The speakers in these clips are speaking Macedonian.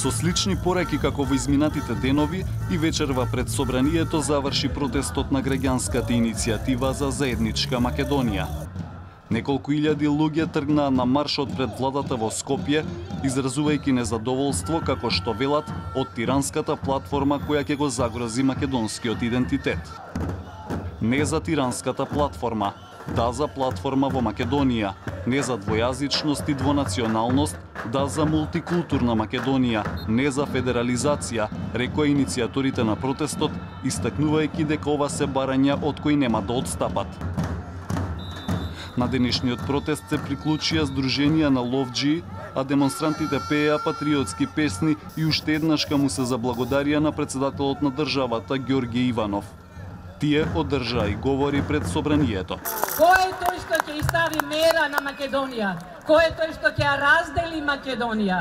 Со слични пораки како во изминатите денови и вечерва пред собранието заврши протестот на граѓанската иницијатива за заедничка Македонија. Неколку илјади луѓе тргнаа на маршот пред владата во Скопје, изразувајќи незадоволство, како што велат, од тиранската платформа која ќе го загрози македонскиот идентитет. Не за тиранската платформа, да за платформа во Македонија, не за двојазичност и двонационалност, да за мултикултурна Македонија, не за федерализација, рекоа иницијаторите на протестот, истакнувајќи дека ова се барања од кои нема да одстапат. На денешниот протест се приклучија здруженија на ловџии, а демонстрантите пееа патриотски песни и уште еднаш му се заблагодарија на председателот на државата Ѓорѓе Иванов. Тие одржаа и говори пред собранието. Кој е тој што ќе стави мера на Македонија? Кој е тој што ќе ја раздели Македонија?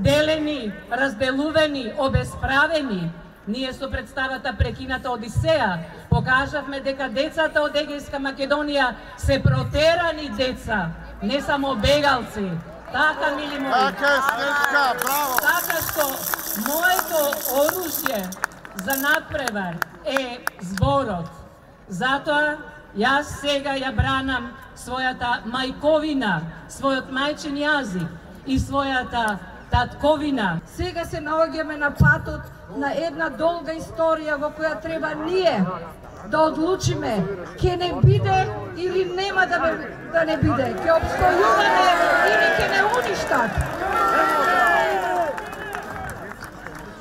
Делени, разделувани, обесправени. Ние со представата Прекината Одисеја покажавме дека децата од Егејска Македонија се протерани деца, не само бегалци. Така, мили мои. Така што моето оружје за надпревар е зборот. Затоа јас сега ја бранам својата мајковина, својот мајчин јазик и својата татковина. Сега се наоѓаме на патот на една долга историја во која треба ние да одлучиме ќе не биде или нема да не биде, ќе обстојуваме или ќе не уништат.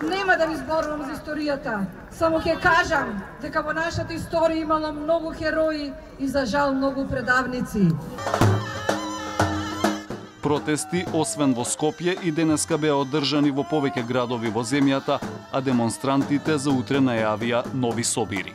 Нема да ви зборувам за историјата, само ќе кажам дека во нашата историја имало многу херои и за жал многу предавници. Протести, освен во Скопје, и денеска беа одржани во повеќе градови во земјата, а демонстрантите за утре најавија нови собири.